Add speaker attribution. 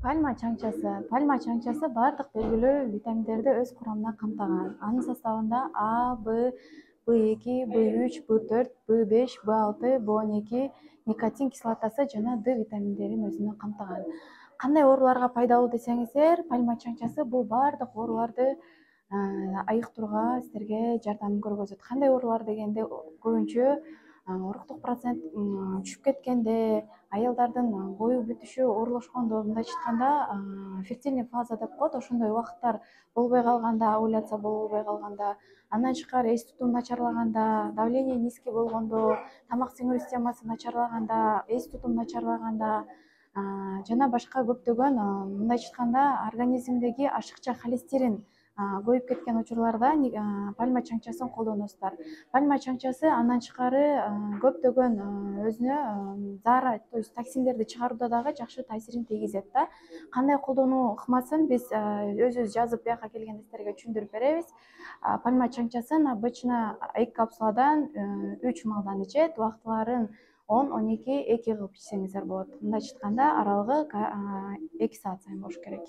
Speaker 1: Пальма чаңчасы бардык белгилүү витаминдерди өз курамына камтыган. Анын составында А, Б, B2, B3, B4, B5, B6, B12, никотин кислотасы жана Д витаминдерин өзүнө камтыган. Кандай ооруларга пайдалуу десеңиздер, пальма чаңчасы бул бардык ооруларды айыктырууга силерге жардам көргөзөт. Кандай оорулар дегенде көбүнчө уруктук процент түшүп кеткенде, аялдардын бою бүтүшү оорлошкондо, мындайча айтканда фертильный фаза деп коет, ошондой убакыттар болбой калганда, овуляция болбой калганда, андан тышкары эс тутум начарлаганда, давление низкий болгондо, тамак сиңирүү системасы начарлаганда, эс тутум начарлаганда жана башка көптөгөн мындайча айтканда организмдеги ашыкча холестерин көбөйүп кеткен учурларда пальма чаңчасын колдоносуздар. Пальма чаңчасы андан тышкары көптөгөн өзүнө заара, то есть токсиндерди чыгарууда дагы жакшы таасирин тийгизет да. Кандай колдонуу ыкмасын биз өзүбүз жазып бияка келгенде силерге түшүндүрүп беребиз. Пальма чаңчасын обычно 2 капсуладан 3 маалдан ичет, убактыларын 10-12 кылып ичсеңиздер болот. Мындайча айтканда аралыгы 2 саат сайын болуш керек.